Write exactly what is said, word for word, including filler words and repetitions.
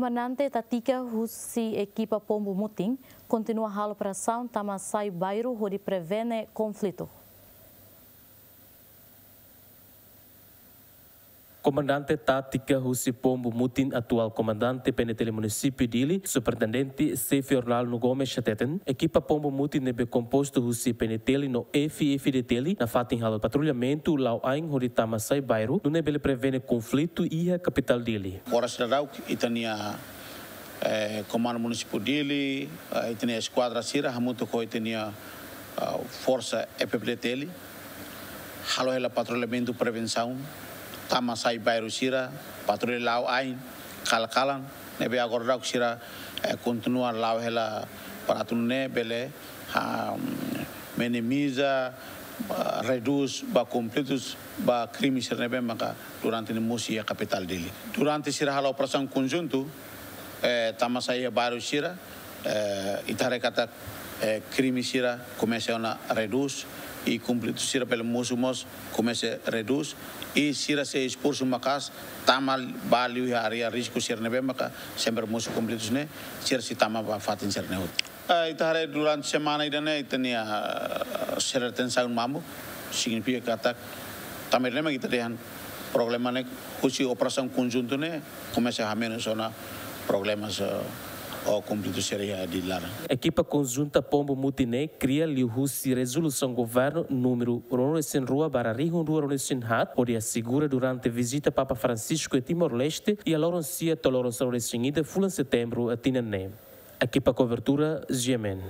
Komandante tátika husi ekipa Pombu Mutin kontinua halo operasaun tama sai bairru hodi prevene konflitu. Komandante tátika husi Pombu Mutin, atuál komandante P N T L Munisípiu Dili, Superintendente Xefe Ornaldo Gomes hateten, ekipa Pombu Mutin ne'ebé kompostu husi P N T L no F F D T L nafatin halo patrullamentu la'o ain hodi tama sai bairru, nune'e bele prevene konflitu iha kapitál Dili. Oras daudauk ita-nia, eh, Komandu Munisípiu Dili, eh, ita-nia eskuadra sira hamutuk ho ita-nia, ah, forsa F F D T L halo hela patrullamentu prevensaun, tama sai bairru sira, patrulla la'o ain, kalan-kalan, ne'ebé agora daudauk sira, eh, kontinua la'o hela para atu nune'e bele, ah, minimiza, ah, redús ba konflitus, ba krime sira ne'ebé maka durante ne'e mosu iha kapitál Dili. Durante sira halo operasaun konjuntu, eh, tama sai iha bairru sira, eh, ita haree katak, eh, krime sira komesa ona redús, i konflitu sira bele mosu mós komesa redús, i sira sei esforsu maka'as tama ba liu iha área risku sira ne'ebé maka sempre mosu konflitus ne'e, sira sei tama ba fatin sira ne'e hotu. Eh, ita haree durante semana ida-ne'e ita-nia, eh, sira tensaun mamuk, signifika katak tanba ne'e mak ita dehan problema ne'e husi operasaun konjuntu ne'e komesa hamenus ona problemas, eh, ou konflitu sira iha Dili laran. Ekipa konjunta Pombu Mutin ne'e kria liuhusi rezolusaun governu númeru ruanulu-resin-rua barra rihun rua ruanulu-resin-haat, hodi asegura durante vizita Papa Francisco iha Timor-Leste iha loron sia to'o loron sanulu-resin-ida fulan Setembru tinan ne'e. Ekipa kobertura, G M N.